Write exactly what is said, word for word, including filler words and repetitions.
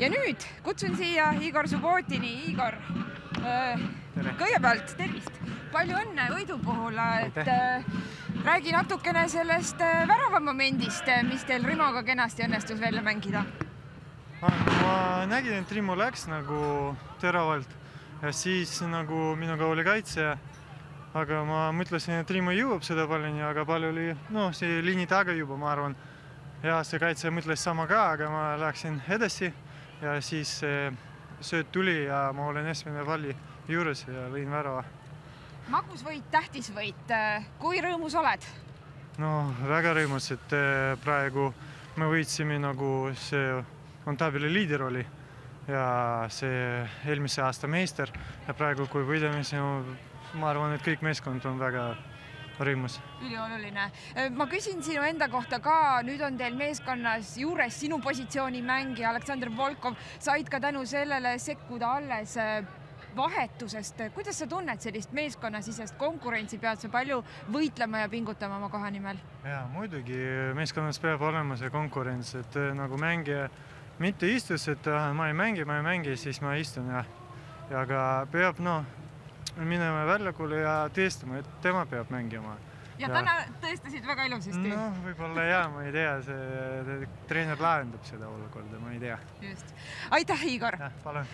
Ja nüüd kutsun siia Igor Subbotini. Igor, kõigepealt tervist. Palju õnne võidu puhul, et räägi natukene sellest väravamomendist, mis teil Rimoga kenasti õnnestus välja mängida. Ma nägin, et Rimo läks nagu teravalt ja siis nagu minuga oli kaitse, aga ma mõtlesin, et Rimo jõuab seda pallini, aga pall oli no, see liini taga juba, ma arvan. Ja see kaitse mõtles sama ka, aga ma läksin edasi ja siis sööt tuli ja ma olen esimene palli juures ja lõin värava. Magus võit, tähtis võit. Kui rõõmus oled? No, väga rõõmus, et praegu me võitsime nagu see on tabeli liider oli ja see eelmise aasta meister ja praegu, kui võidame, ma arvan, et kõik meeskond on väga rõõmus. Ülioluline. Ma küsin sinu enda kohta ka, nüüd on teil meeskonnas juures sinu positsiooni mängija Aleksandr Volkov, said ka tänu sellele sekkuda alles vahetusest. Kuidas sa tunned sellist meeskonnasisest konkurentsi, pead sa palju võitlema ja pingutama oma koha nimel? Ja, muidugi meeskonnas peab olema see konkurents, et nagu mängija mitte istus, et ma ei mängi, ma ei mängi, siis ma istun ja, ja aga peab no, minema väljakule ja teestama, et tema peab mängima. Ja, ja täna tõestasid väga ilusasti. No, võib-olla jah, ma ei tea, see treener lahendab seda olukorda, ma ei tea. Just. Aitäh, Igor! Ja, palun!